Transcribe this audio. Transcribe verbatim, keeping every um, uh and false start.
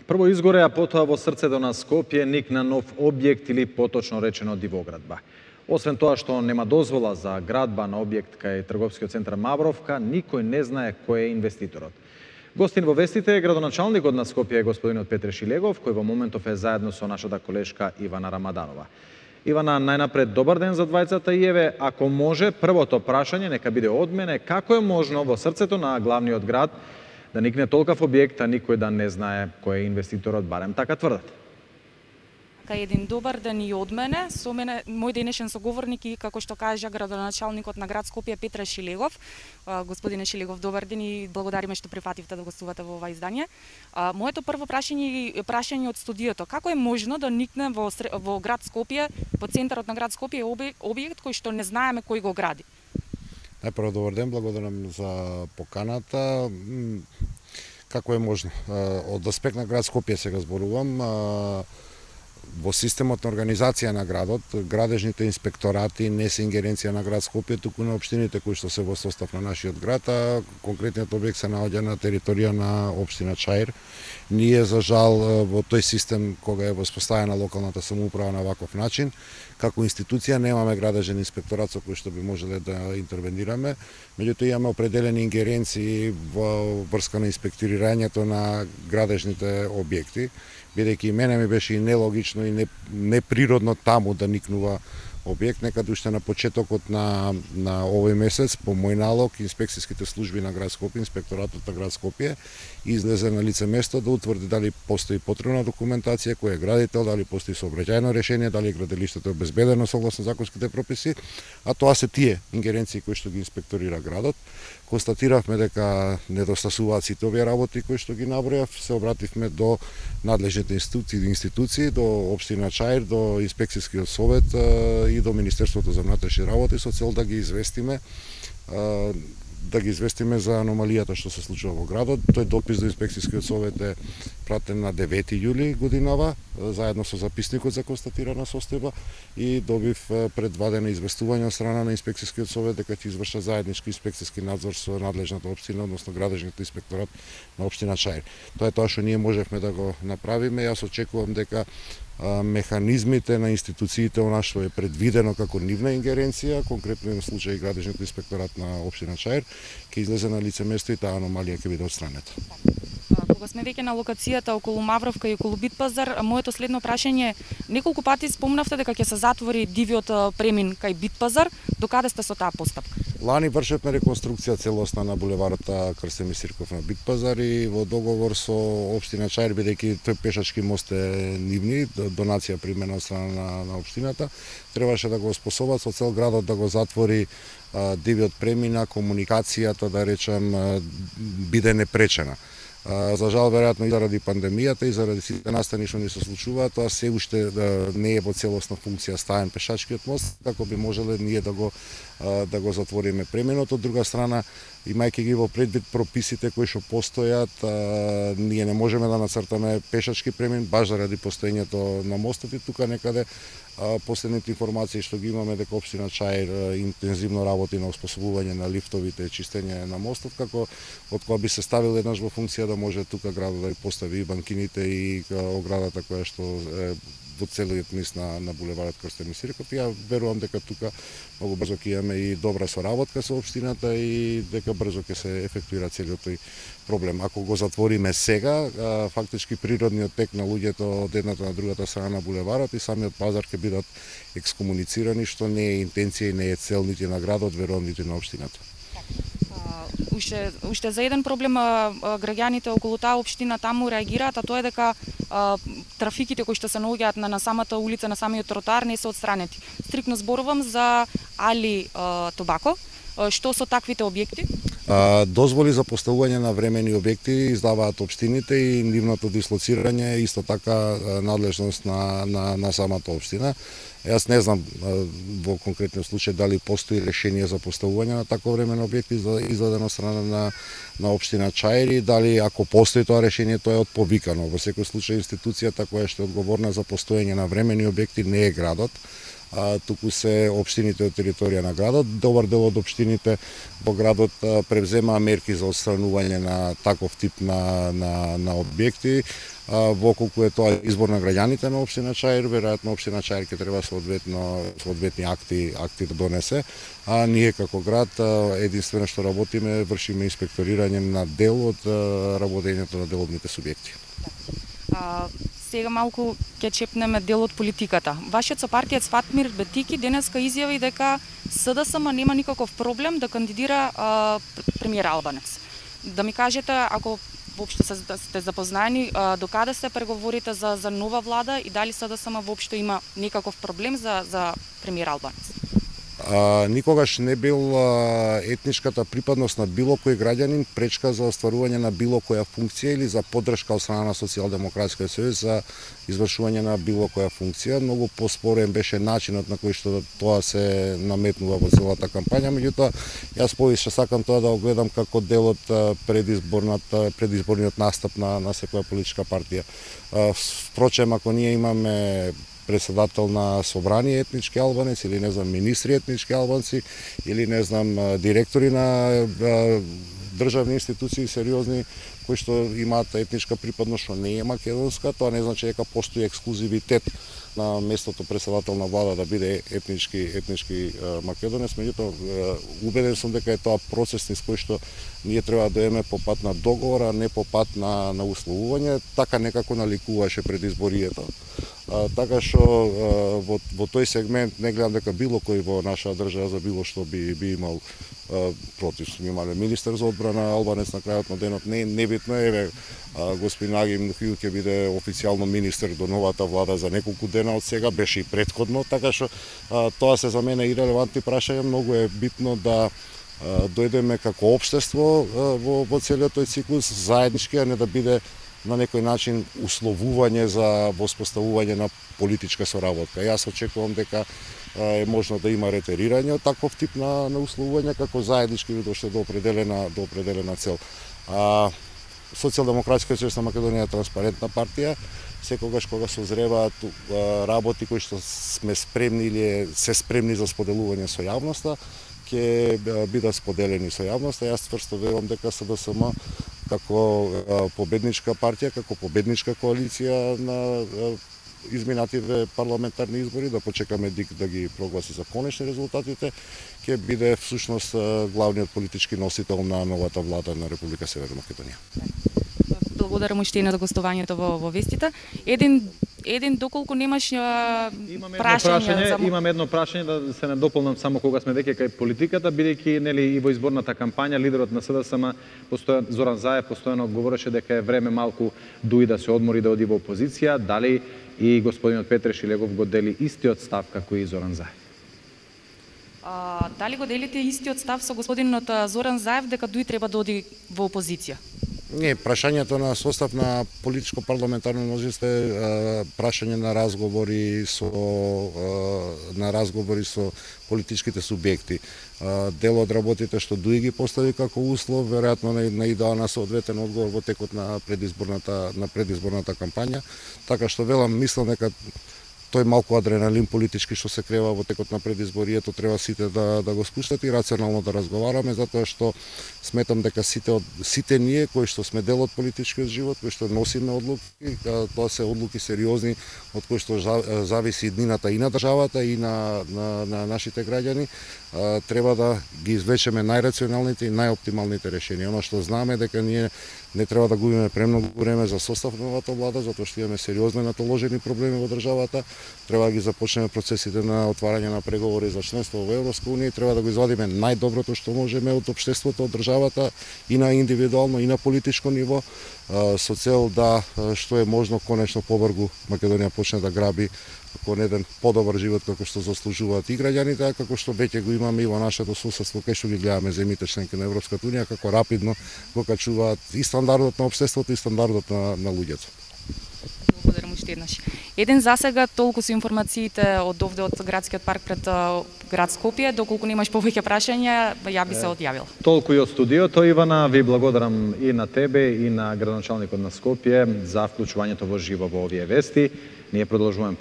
Прво изгоре, а потоа во срцето на Скопје никна нов објект или поточно речено дивоградба. Освен тоа што нема дозвола за градба на објект кај трговскиот центар Мавровка, никој не знае кој е инвеститорот. Гостин во вестите е градоначалникот на Скопје господинот Петре Шилегов, кој во моментов е заедно со нашата колешка Ивана Рамаданова. Ивана, најнапред добар ден за двајцата и еве, ако може, првото прашање нека биде од мене, како е можно во срцето на главниот град да никне толкав објект, а никој да не знае кој е инвеститорот, барем така тврдат. Кај еден добар ден и од мене, со мене мој денешен соговорник и како што кажа градоначалникот на град Скопје Петре Шилегов. Господине Шилегов, добар ден и благодариме што прифативте да гостувате во ова издание. Моето прво прашање е прашање од студиото. Како е можно да никне во, во град Скопје, во центарот на град Скопје објект кој што не знаеме кој го гради? Најпрво добар ден, благодарам за поканата. Како е можно? Од аспект на град Скопје сега зборувам. Во системот на организација на градот, градежните инспекторати не се ингеренција на град Скопје, туку на општините кои што се во состав на нашиот град, а конкретниот објект се наоѓа на територија на општина Чаир. Ние, за жал, во тој систем, кога е воспоставена локалната самоуправа на ваков начин, како институција немаме градежен инспекторат со кој што би можеле да интервенираме, меѓутоа имаме определени ингеренции во врска на инспектирањето на градежните објекти, бидејќи мене ми беше и нелогично и неприродно таму да никнува објект. Некаде уште на почетокот на, на овој месец, по мој налог, инспекцијските служби на град Скопје, инспекторатот на град Скопје, излезе на лице место да утврди дали постои потребна документација, кој е градител, дали постои сообраќајно решение, дали граделиштето е обезбедено согласно законските прописи, а тоа се тие ингеренции кои што ги инспекторира градот. Констатиравме дека недостасуваат сите овие работи кои што ги набројав, се обративме до надлежните институции, институции, до општина Чаир, до инспекцијскиот совет и до Министерството за внатрешни работи со цел да ги известиме да ги известиме за аномалијата што се случува во градот. Тој допис до инспекцијскиот совет е пратен на девети јули годинава, заедно со записникот за констатирана состојба, и добив пред два дена известување од страна на инспекцијскиот совет дека ќе извршат заеднички инспекцијски надзор со надлежната општина, односно градежниот инспекторат на општина Чаир. Тоа е тоа што ние можевме да го направиме. Јас очекувам дека механизмите на институциите она што е предвидено како нивна ингеренција, конкретно на случај градежниот инспекторат на општина Чаир, ќе излезе на лице место и таа аномалија ќе биде отстранета. Кога сме веќе на локацијата околу Мавровка и околу Битпазар, моето следно прашање, неколку пати спомнавте дека ќе се затвори дивиот премин кај Битпазар, докаде сте со таа постапка? Лани вршевме реконструкција целосна на булеварот Крстен Мисирков на Битпазар и во договор со општина Чаир, бидејќи тој пешачки мост е нивни, донација примена од страна на, на општината, требаше да го способат со цел градот да го затвори а, дивиот премина, комуникацијата, да речем, а, биде непречена. А, за жал, веројатно и заради пандемијата и заради сите настани што ни се случуваат, тоа се уште да, не е во целосна функција ставен пешачкиот мост, како би можеле ние да го а, да го затвориме преминот. Од друга страна, имајќи ги во предвид прописите кои што постојат, а, ние не можеме да нацртаме пешачки премин баш заради постоењето на мостот, и тука некаде а, последните информации што ги имаме дека општина Чаир а, интензивно работи на оспособување на лифтовите и чистење на мостот, како од кога би се ставил еднаш во функција да може тука градот да постави и банкините и а, оградата која што е во целиот низ на, на булеварот Крстен Мисирков. Ја верувам дека тука многу брзо ќе имаме и добра соработка со општината и дека брзо ќе се ефектуира целиот тој проблем. Ако го затвориме сега, фактички природниот тек на луѓето од едната на другата страна на булеварот и самиот пазар ќе бидат екскомуницирани, што не е интенција и не е цел нити на градот, верувам нити на општината. Уште, уште за еден проблем граѓаните околу таа општина таму реагираат, а тоа е дека а, трафиките кои што се наоѓаат на, на самата улица, на самиот тротоар не се отстранети. Стрикно зборувам за Али а, Тобако. Што со таквите објекти? А, дозволи за поставување на времени објекти издаваат општините и нивното дислоцирање е исто така надлежност на, на, на самата општина. Јас не знам во конкретниот случај дали постои решение за поставување на такво времено објекти издадено од страна на, на општина Чаир, и дали ако постои тоа решение, тоа е отповикано. Во секој случај институцијата која што е одговорна за постоење на времени објекти не е градот, а, туку се општините од територија на градот. Добар дел од општините во градот а, превземаа мерки за отстранување на таков тип на, на, на објекти. Во колку е тоа избор на граѓаните на општина Чаир, веројатно општина Чаир ќе треба соодветно соодветни акти акти да донесе, а ние како град единствено што работиме вршиме инспекторирање на дел од работењето на деловните субјекти. А, сега малку ќе чепнеме дел од политиката. Вашиот сопартиец Фатмир Бетики денеска изјави дека СДСМ нема никаков проблем да кандидира а, премиер Албанец. Да ми кажете, ако воопшто сте запознаени, до каде се преговорите за, за нова влада и дали СДСМ воопшто има некаков проблем за, за премиер Албанец? А, никогаш не бил а, етничката припадност на било кој граѓанин пречка за остварување на било која функција или за поддршка од страна на Социјалдемократскиот сојуз за извршување на било која функција. Многу поспорен беше начинот на кој што тоа се наметнува во целата кампања, меѓутоа јас повише сакам тоа да го гледам како дел од предизборната предизборниот настап на на секоја политичка партија. А, впрочем, ако ние имаме председател на собрание етнички албанец или не знам министри етнички албанци или не знам директори на државни институции сериозни кои што имаат етничка припадност што не е македонска, тоа не значи дека постои ексклузивитет на местото председател на влада да биде етнички етнички македонец, меѓутоа убеден сум дека е тоа процес низ кој што ние треба да доеме по пат на договор, а не по пат на на условување, така некако наликуваше предизборието. А, така што во, во тој сегмент не гледам дека било кој во наша држава за било што би би имал а, против. Сме имале министер за одбрана Албанец на крајот на денот, не небитно е, господин Агим Нухил ќе биде официјално министер до новата влада за неколку дена од сега, беше и претходно, така што а, тоа се за мене ирелевантни прашања, многу е битно да а, дојдеме како општество а, во, во целиот тој циклус заеднички, а не да биде на некој начин условување за воспоставување на политичка соработка. Јас очекувам дека е можно да има ретерирање од таков тип на, на условување како заеднички ви доште до определена до определена цел. А, Социјалдемократскиот сојуз на Македонија е транспарентна партија. Секогаш кога созреваат работи кои што сме спремни или се спремни за споделување со јавноста, ќе бидат споделени со јавноста. Јас тврсто верувам дека СДСМ како победничка партија, како победничка коалиција на изминативе парламентарни избори, да почекаме ДИК да ги прогласи за конечни резултатите, ќе биде всушност главниот политички носител на новата влада на Република Северна Македонија. Благодарам уште и на гостувањето во, во вестите. Еден еден доколку немаш а, имам прашање, прашање за... имам едно прашање да се надополнам само кога сме веќе кај политиката, бидејќи нели и во изборната кампања лидерот на СДСМ постојано Зоран Заев постојано говореше дека е време малку дуи да се одмори да оди во опозиција, дали и господинот Петре Шилегов го дели истиот став како и Зоран Заев? А, дали го делите истиот став со господинот Зоран Заев дека дуи треба да оди во опозиција? Не, прашањето на состав на политичко парламентарно мнозинство е прашање на разговори со на разговори со политичките субјекти. Дел од работите што Дуи ги постави како услов, веројатно не идеа на соодветен одговор во текот на предизборната на предизборната кампања, така што велам мислам дека тој малку адреналин политички што се крева во текот на предизборието треба сите да да го спуштат и рационално да разговараме, затоа што сметам дека сите од сите ние кои што сме дел од политичкиот живот, кои што носиме одлуки, тоа се одлуки сериозни од кои што зависи иднината и на државата и на на, на нашите граѓани, треба да ги извлечеме најрационалните и најоптималните решенија. Оно што знаме дека ние не треба да губиме премногу време за состав на новата влада, затоа што имаме сериозни натоложени проблеми во државата. Треба да ги започнеме процесите на отварање на преговори за членство во Европска унија и треба да го извадиме најдоброто што можеме од општеството, од државата и на индивидуално и на политичко ниво, со цел да што е можно конечно побрзо Македонија почне да граби кон еден подобар живот како што заслужуваат и граѓаните, како што веќе го имаме и во нашето соседство, кај што ги гледаме земјите членки на Европската унија, како рапидно го качуваат и стандардот на општеството и стандардот на, на луѓето. Благодарам уште еднаш. Еден засега толку се информациите од овде од градскиот парк пред град Скопје, доколку немаш повеќе прашања, ја би се одјавила. Толку и од студиото, Ивана, ви благодарам и на тебе и на градоначалникот на Скопје за вклучувањето во живо во овие вести. Ние продолжуваме